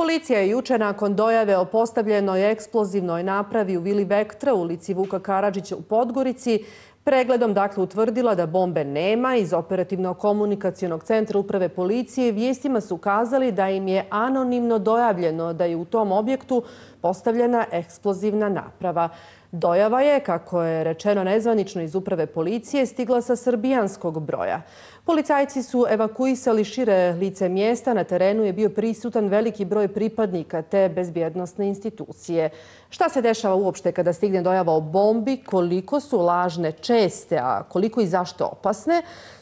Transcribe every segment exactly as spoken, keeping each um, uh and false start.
Policija je juče nakon dojave o postavljenoj eksplozivnoj napravi u vili Vektra u ulici Vuka Karadžića u Podgorici pregledom dakle utvrdila da bombe nema. Iz operativno-komunikacionog centra uprave policije vijestima su ukazali da im je anonimno dojavljeno da je u tom objektu postavljena eksplozivna naprava. Dojava je, kako je rečeno nezvanično iz uprave policije, stigla sa srbijanskog broja. Policajci su evakuisali šire lice mjesta. Na terenu je bio prisutan veliki broj pripadnika te bezbjednosne institucije. Šta se dešava uopšte kada stigne dojava o bombi? Koliko su lažne česte, a koliko i zašto opasne?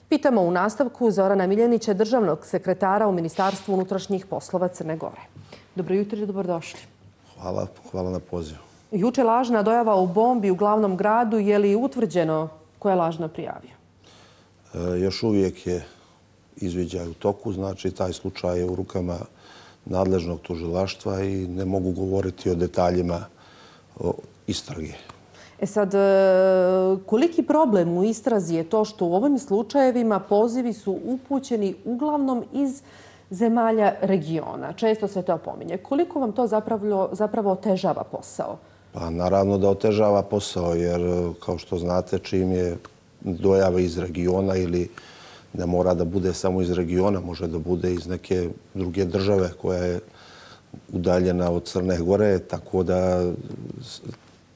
Pitamo u nastavku Zorana Miljenića, državnog sekretara u Ministarstvu unutrašnjih poslova Crne Gore. Dobro jutro i dobrodošli. Hvala, hvala na pozivu. Juče lažna dojava o bombi u glavnom gradu. Je li utvrđeno ko je lažno prijavio? E, još uvijek je izviđaj u toku. Znači, taj slučaj je u rukama nadležnog tužilaštva i ne mogu govoriti o detaljima o istrage. E sad, koliki problem u istrazi je to što u ovim slučajevima pozivi su upućeni uglavnom iz zemalja regiona? Često se to pominje. Koliko vam to zapravo, zapravo otežava posao? Pa naravno da otežava posao, jer kao što znate, čim je dojava iz regiona ili ne mora da bude samo iz regiona, može da bude iz neke druge države koja je udaljena od Crne Gore, tako da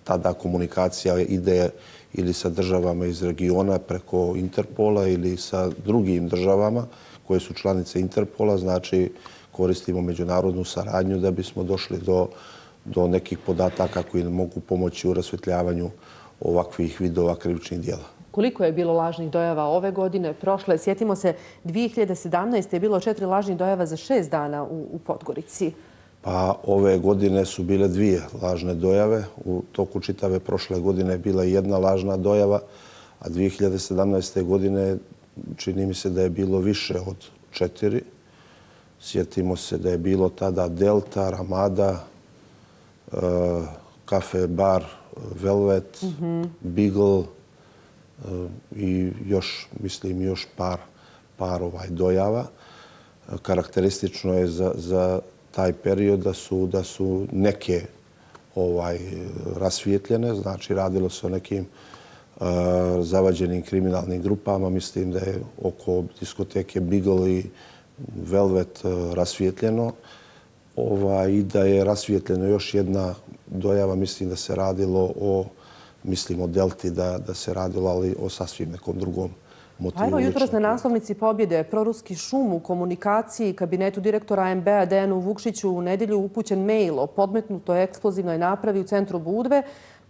tada komunikacija ide ili sa državama iz regiona preko Interpola ili sa drugim državama koje su članice Interpola. Znači, koristimo međunarodnu saradnju da bismo došli do, do nekih podataka koji nam mogu pomoći u rasvjetljavanju ovakvih vidova krivičnih djela. Koliko je bilo lažnih dojava ove godine, prošle? Sjetimo se, dvije hiljade sedamnaeste. je bilo četiri lažnih dojava za šest dana u, u Podgorici. Pa ove godine su bile dvije lažne dojave. U toku čitave prošle godine je bila jedna lažna dojava, a dvije hiljade sedamnaeste. godine čini mi se da je bilo više od četiri. Sjetimo se da je bilo tada Delta, Ramada, uh, kafe bar Velvet, mm-hmm. Beagle uh, i još, mislim, još par, par ovaj dojava. Karakteristično je za, za taj period da su, da su neke ovaj, rasvijetljene, znači radilo se o nekim uh, zavađenim kriminalnim grupama. Mislim da je oko diskoteke Beagle i Velvet uh, rasvijetljeno ovaj, i da je rasvijetljeno još jedna dojava. Mislim da se radilo o, mislim o Delti, da, da se radilo, ali o sasvim nekom drugom motivu. Evo jutros na naslovnici Pobjede proruski šum u komunikaciji kabinetu direktora A M B-a Dejanu Vukšiću u nedjelju upućen mail o podmetnutoj eksplozivnoj napravi u centru Budve.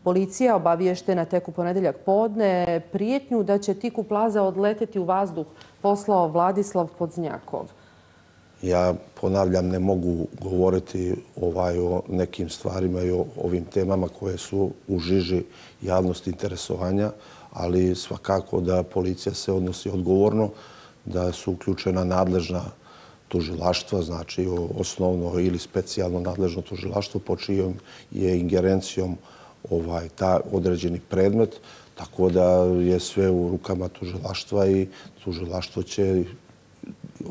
Policija, obaviještena tek u ponedeljak podne, prijetnju da će Tiku Plaza odleteti u vazduh poslao Vladislav Podznjakov. Ja ponavljam, ne mogu govoriti ovaj, o nekim stvarima i o ovim temama koje su u žiži javnosti interesovanja, ali svakako da policija se odnosi odgovorno, da su uključena nadležna tužilaštva, znači osnovno ili specijalno nadležno tužilaštvo po čijom je ingerencijom ovaj, ta određeni predmet, tako da je sve u rukama tužilaštva i tužilaštvo će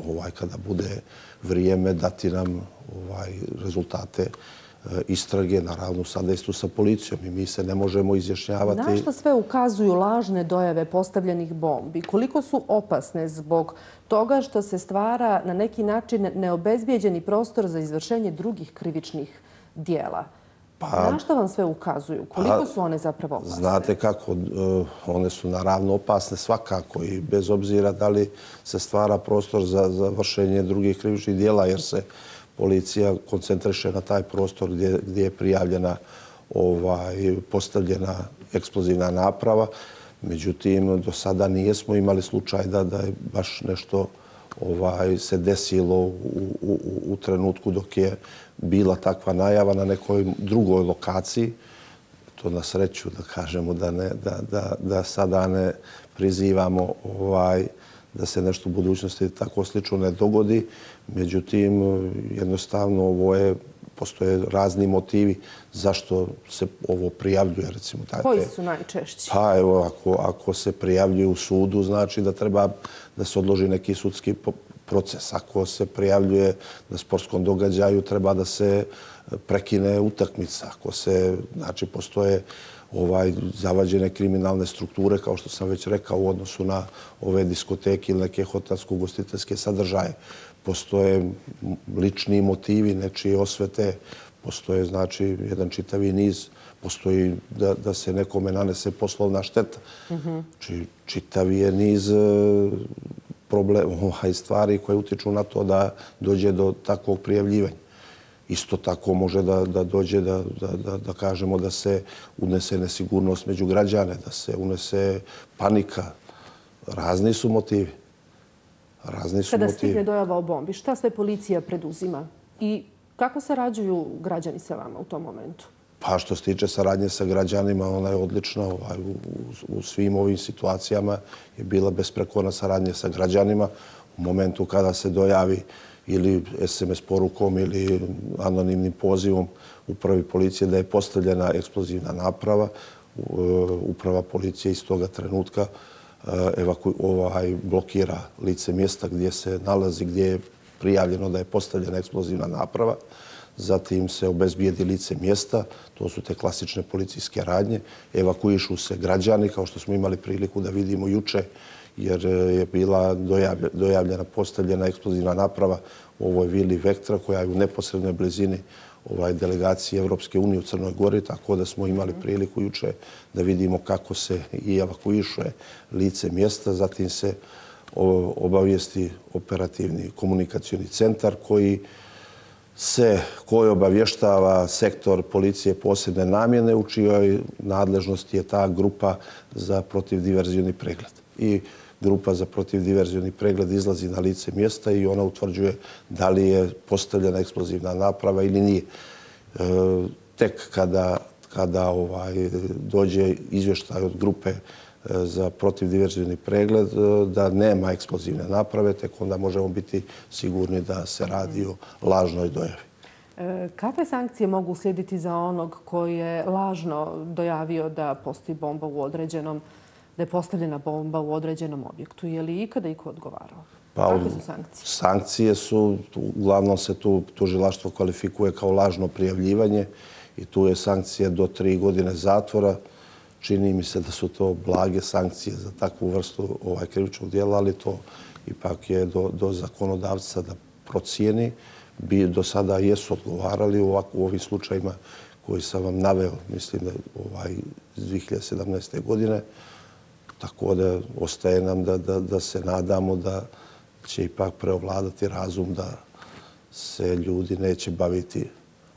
ovaj, kada bude vrijeme dati nam ovaj, rezultate istrage, naravno sada isto sa policijom i mi se ne možemo izjašnjavati. Na što sve ukazuju lažne dojave postavljenih bombi? Koliko su opasne zbog toga što se stvara na neki način neobezbijeđeni prostor za izvršenje drugih krivičnih dijela? Pa, na što vam sve ukazuju? Koliko su one zapravo opasne? Znate kako, one su naravno opasne svakako i bez obzira da li se stvara prostor za, za vršenje drugih krivičnih dijela, jer se policija koncentriše na taj prostor gdje, gdje je prijavljena ovaj, postavljena eksplozivna naprava. Međutim, do sada nijesmo imali slučaj da, da je baš nešto ovaj, se desilo u, u, u trenutku dok je bila takva najava na nekoj drugoj lokaciji. To na sreću da kažemo da, ne, da, da, da sada ne prizivamo ovaj, da se nešto u budućnosti tako slično ne dogodi. Međutim, jednostavno ovo je, postoje razni motivi zašto se ovo prijavljuje. Recimo, taj, koji su najčešći? Pa evo, ako, ako se prijavljuje u sudu, znači da treba da se odloži neki sudski proces. Ako se prijavljuje na sportskom događaju, treba da se prekine utakmica. Ako se, znači, postoje ovaj, zavađene kriminalne strukture, kao što sam već rekao, u odnosu na ove diskoteke ili neke hotelsko-ugostiteljske sadržaje. Postoje lični motivi, nečije osvete, postoje, znači, jedan čitavi niz, postoji da, da se nekome nanese poslovna šteta. Mm-hmm. Či, čitavi je niz problema, ovaj, stvari koje utiču na to da dođe do takvog prijavljivanja. Isto tako može da, da dođe da, da, da, da kažemo da se unese nesigurnost među građane, da se unese panika. Razni su motivi. Razni su Kada motivi. stigne dojava o bombi, šta sve policija preduzima i kako sarađuju građani sa vama u tom momentu? Pa što se tiče saradnje sa građanima, ona je odlična. Ovaj, u, u, u svim ovim situacijama je bila besprekorna saradnja sa građanima. U momentu kada se dojavi ili es em es porukom ili anonimnim pozivom upravi policije da je postavljena eksplozivna naprava, uprava policije iz toga trenutka evaku, ovaj, blokira lice mjesta gdje se nalazi, gdje je prijavljeno da je postavljena eksplozivna naprava. Zatim se obezbijedi lice mjesta, to su te klasične policijske radnje. Evakuišu se građani, kao što smo imali priliku da vidimo juče, jer je bila dojavljena, postavljena eksplozivna naprava u ovoj vili Vektra, koja je u neposrednoj blizini ovaj, delegacije Evropske unije u Crnoj Gori, tako da smo imali priliku juče da vidimo kako se i evakuiše lice mjesta. Zatim se obavijesti operativni komunikacioni centar koji se, koji obavještava sektor policije posebne namjene u čijoj nadležnosti je ta grupa za protivdiverzioni pregled. I grupa za protivdiverzioni pregled izlazi na lice mjesta i ona utvrđuje da li je postavljena eksplozivna naprava ili nije. E, tek kada, kada ovaj, dođe izvještaj od grupe za protivdiverzioni pregled da nema eksplozivne naprave, tek onda možemo biti sigurni da se radi o lažnoj dojavi. E, kakve sankcije mogu uslijediti za onog koji je lažno dojavio da postoji bomba u određenom, da je postavljena bomba u određenom objektu? Je li ikada iko odgovarao? Pa, kakve su sankcije? Sankcije su, uglavnom se tu tužilaštvo kvalifikuje kao lažno prijavljivanje i tu je sankcija do tri godine zatvora. Čini mi se da su to blage sankcije za takvu vrstu ovaj, krivičnog dijela, ali to ipak je do, do zakonodavca da procijeni. Bi, do sada jesu odgovarali u, ovak, u ovim slučajima koji sam vam naveo, mislim da ovaj, iz dvije hiljade sedamnaeste. godine. Tako da ostaje nam da, da, da se nadamo da će ipak preovladati razum, da se ljudi neće baviti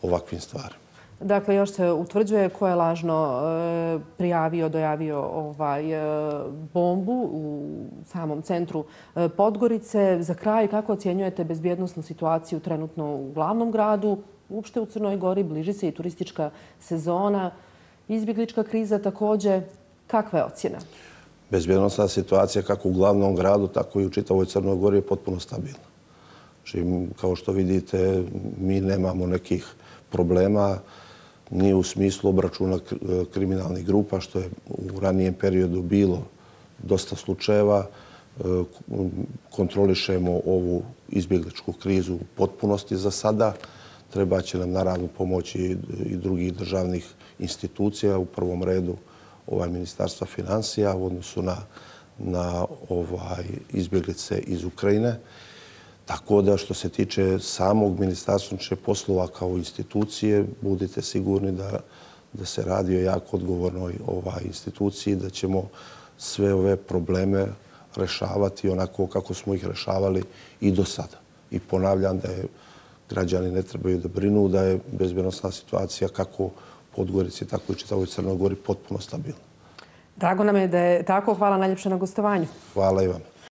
ovakvim stvarima. Dakle, još se utvrđuje ko je lažno e, prijavio, dojavio ovaj, e, bombu u samom centru e, Podgorice. Za kraj, kako ocjenjujete bezbjednosnu situaciju trenutno u glavnom gradu, uopšte u Crnoj Gori? Bliži se i turistička sezona, izbjeglička kriza također. Kakva je ocjena? Bezbjednosna situacija kako u glavnom gradu, tako i u čitavoj Crnoj Gori je potpuno stabilna. Znači, kao što vidite, mi nemamo nekih problema ni u smislu obračuna kriminalnih grupa, što je u ranijem periodu bilo dosta slučajeva. Kontrolišemo ovu izbjegličku krizu u potpunosti za sada. Treba će nam naravno pomoći i drugih državnih institucija, u prvom redu ovaj Ministarstva financija u odnosu na, na ovaj izbjeglice iz Ukrajine. Tako da što se tiče samog Ministarstva unutrašnjih poslova kao institucije, budite sigurni da, da se radi o jako odgovornoj ovaj instituciji, da ćemo sve ove probleme rešavati onako kako smo ih rešavali i do sada. I ponavljam da je građani ne trebaju da brinu, da je bezbjednosna situacija kako u Podgorici, tako i čitavoj Crnoj Gori potpuno stabilna. Drago nam je da je tako. Hvala najljepše na gostovanju. Hvala i vam.